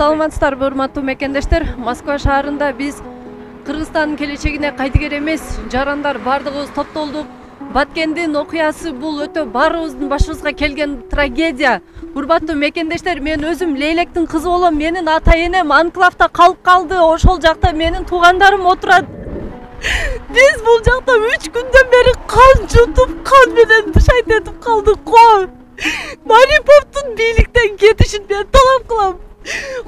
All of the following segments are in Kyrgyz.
Саламатсыздарбы, урматтуу мекендештер. Москва шаарында биз Кыргызстандын келечегине кайдыгер эмес, жарандар бардыгыбыз топтолдук. Баткендин окуясы бул өтө баарыбыздын башыбызга келген трагедия. Урматтуу мекендештер, мен өзүм Лейлектин кызы болом. Менин ата-энем анклавда калып калды. Ошол жакта менин туугандарым отурат. Биз бул жакта 3 күндөн бери кан жутуп, кан менен дышайт этип калдык го. Мариповдун бийликтен кетишин мен талап кылам.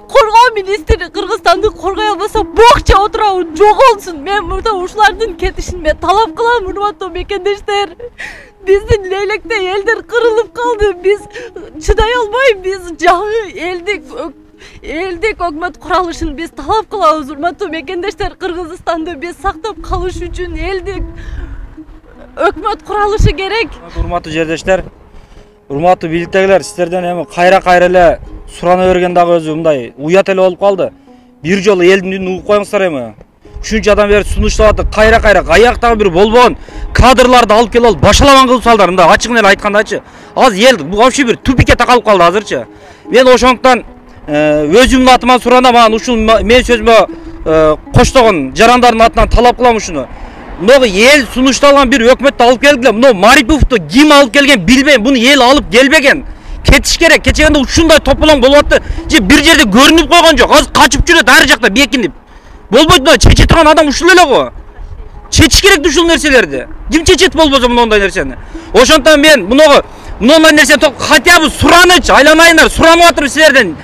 Коргоо министри Кыргызстанды коргой албаса бокча отурабы жоголсун. Мен мурда ушулардын кетишин мен талап кылам, урматтуу мекендештер. Биздин Лейлекте элдер кырылып калды. Биз чыдай албай, биз жаңы элдик өкмөт куралышын биз талап кылабыз, урматтуу мекендештер. Кыргызстанды биз сактап калыш үчүн элдик өкмөт куралышы керек. Урматтуу жердештер, урматтуу бийликтегилер, сиздерден эми кайра эле сурана берген дагы өзү мындай уят эле болуп калды. Бир жолу элдин үнүн угуп коюңуздар эми. Ушунча адам бери сунуштап атып, кайра каяктагы бир болбогон кадрларды алып келип алып башаламан кылып салдыр. Мындай ачыгын эле айткандачы. Азыр эл бул вообще бир тупикке такалып калды азырчы. Мен ошондуктан өзүмдүн атыман суранам, ушул мен сөзүмө коштогон жарандардын атынан талап кылам ушуну. Мына эл сунушталган бир өкмөттү алып келгиле. Мына Мариповду ким алып келген билбейм. Буну эл алып келбеген. Кетиш керек. Кечегенде ушундай тополоң болуп атты. Же бир жерде көрүнүп койгон жок. Азыр качып жүрөт ар жакта бекинип. Болбойт да, чече турган адам ушул эле го. Чечиш керек ушул нерселерди. Ким чечет болбосо мындай нерсени. Ошондон мен мындай нерсени хотя бы сураныч, айланайындар, суранып атырмын силерден.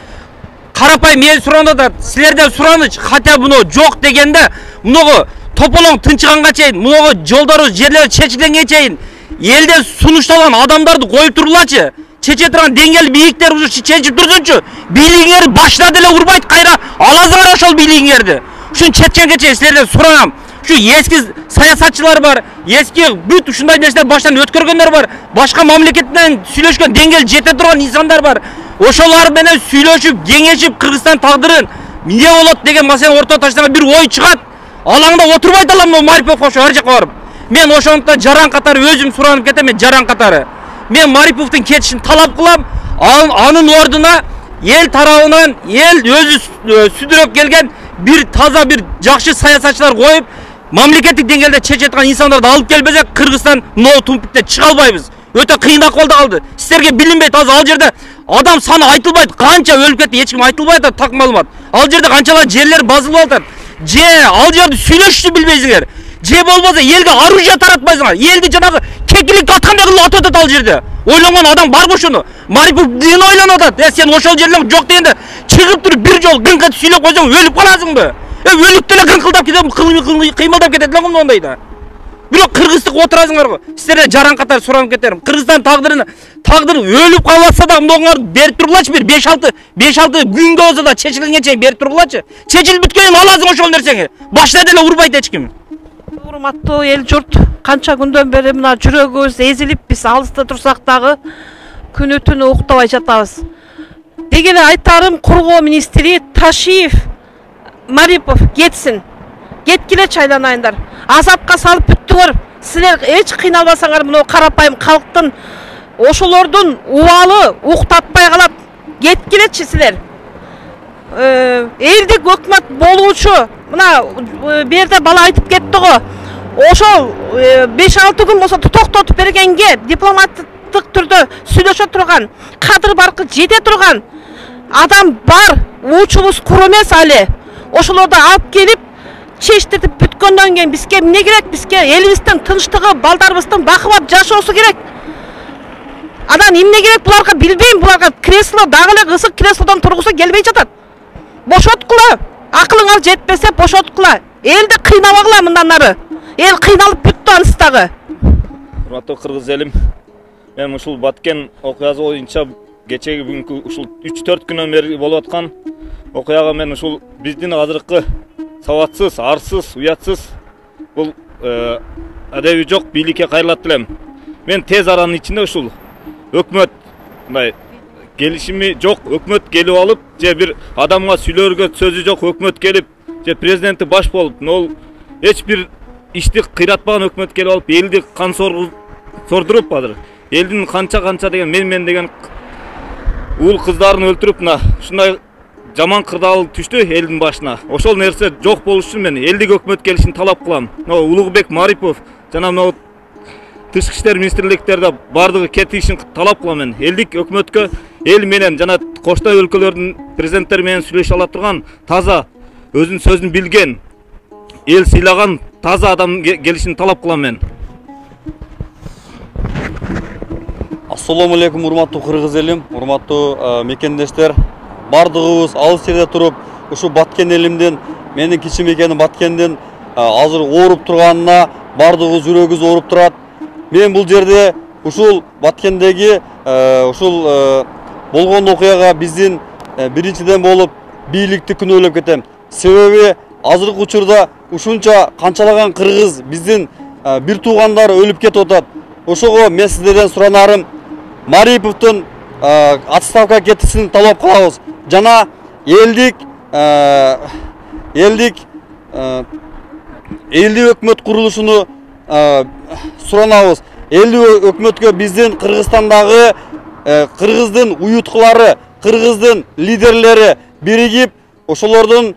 Карапайым эл суранда да силерден сураныч, хотя бы жок дегенде, мынагы тополоң тынчыганга чейин, мынагы жолдорубуз, жерлер чечилгенге чейин элден сунушталган адамдарды коюп турлачы. Чече турган деңгел бийиктер уже чечип турсунчу. Бийлигиңерди башына деле урбайт, кайра аласыңар ошол бийлигиңерди. Ушун чечкенге чейин силерден суранам. Ушу эски саясатчылар бар, эски бүт ушундай нерселер баштан өткөргөндөр бар, башка мамлекеттен сүйлөшкөн деңгел жете турган инсандар бар. Ошолар менен сүйлөшүп, кеңешип Кыргызстан тагдырын эмне болот деген маселени ортого таштаган бир ой чыгат. Алаңда отурбайт алам Марипов ошо ар жакка барып. Мен ошондуктан жаран катары өзүм суранып кетем, мен жаран катары. Мен Мариповдун кетишин талап кылам. Анын ордуна эл тарабынан эл өзү сүдүрөп келген бир таза бир жакшы саясатчылар коюп, мамлекеттик деңгээлде чече турган инсандарды алып келбесек, Кыргызстан мынау тумпиктен чыга албайбыз. Өтө кыйын акыбалда калды. Силерге билинбейт, азыр ал жерде адам саны айтылбайт, канча өлүп кетти, эч ким айтылбайт, так маалымат. Ал жерде канчалар жерлер базылып атат. Же ал жерде сүйлөшүштү билбейсиңер. Же болбосо элге оружие таратпайсыңар. Элди жанагы кекиликке аткандай кылып атат ал жерде. Ойлонгон адам барбы ошону? Марипов ден ойлонуп атат. Сен ошол жерлер жок дегенде чыгып туруп бир жол гыңкат сүйлөп койсоң өлүп каласыңбы? Өлүп деле гыңкылдап кетем, кыймылдап кетет эле мондайда. Бирок кыргыздык отурасыңар го. Силерден жаран катары суранып кетерим. Кыргызстан тагдыры өлүп калбаса да мындагылар берип тургулачы, бир 5-6 күнгө болсо да чечилгенге чейин берип тургулачы. Чечилип бүткөнүн аласың ошол нерсени. Башына деле урбайт эч ким. Урматтуу эл журт, канча күндөн бери мына жүрөгүбүз эзилип, биз алыста турсак дагы күнү түнү уктабай жатабыз. Деги эле айтарым, коргоо министри Ташиев Марипов кетсин. Кеткилечи айланайындар. Азапка салып бүттүңөр. Силер эч кыйналбасаңар, мына карапайым калктын ошолордун убалы уктатпай калат. Кеткилечи силер. Элдик өкмөт болуучу, мына берде бала айтып кетти го. Ошол 5-6 күн болсо токтотуп бергенге дипломаттык түрдө сүйлөшө турган, кадыр баркы жете турган адам бар. Уучубуз кур эмес али. Ошолорду алып келип чечтиртип бүткөндөн кийин бизге эмне керек? Бизге элибиздин тынчтыгы, балдарыбыздын бакыбап жашоосу керек. Анан эмне керек буларга билбейм, буларга кресло дагы эле кызык креслодон тургусу келбей жатат. Бошоткула. Акылыңар жетпесе бошоткула. Элди кыйнабагыла мындан ары. Эл кыйналып бүттү аныстагы. Урматтуу кыргыз элим, мен ушул Баткен окуясы боюнча кечеги бүгүнкү ушул 3-4 күнөн бери болуп аткан окуяга мен ушул биздин азыркы сабатсыз, арсыз, уятсыз бул адеби жок бийликке кайрылат элем. Мен тез аранын ичинде ушул өкмөт мындай келишими жок, өкмөт келип алып, же бир адамга сүйлөргө сөзү жок өкмөт келип, же президенти баш болуп, нол эч бир ишти кыйратпаган өкмөт келип алып, элди кан сордуруп азыр. Элдин канча деген мен деген уул кыздарын өлтүрүп, мына ушундай жаман кырдаал түштү элдин башына. Ошол нерсе жок болуш үчүн мен элдик өкмөт келишин талап кылам. Улугбек Марипов жана могу тышкы иштер министрликтерде бардыгы кетишин талап кылам мен. Элдик өкмөткө эл менен жана коштой өлкөлөрдүн президенттери менен сүйлөшө ала турган таза өзүнүн сөзүн билген, эл сыйлаган таза адам келишин талап кылам мен. Ассаламу алейкум, урматтуу кыргыз элим, урматтуу мекендештер. Бардыгыбыз алыс жерде туруп, ушу Баткен элимдин, менин кичи мекеним Баткендин азыр ооруп турганына бардыгыбыз жүрөгүбүз ооруп турат. Мен бул жерде ушул Баткендеги ушул болгон окуяга биздин биринчиден болуп бийликти күнөөлөп кетем. Себеби азыркы учурда ушунча канчалаган кыргыз биздин бир туугандары өлүп кетип атат. Ошого мен сиздерден суранарым, Мариповдун отставка кетишин талап кылабыз. Жана элдик өкмөт курулушуну суранабыз. Элдик өкмөткө биздин Кыргызстандагы кыргыздын уюткулары, кыргыздын лидерлери биригип ошолордун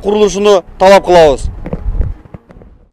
курулушуну талап кылабыз.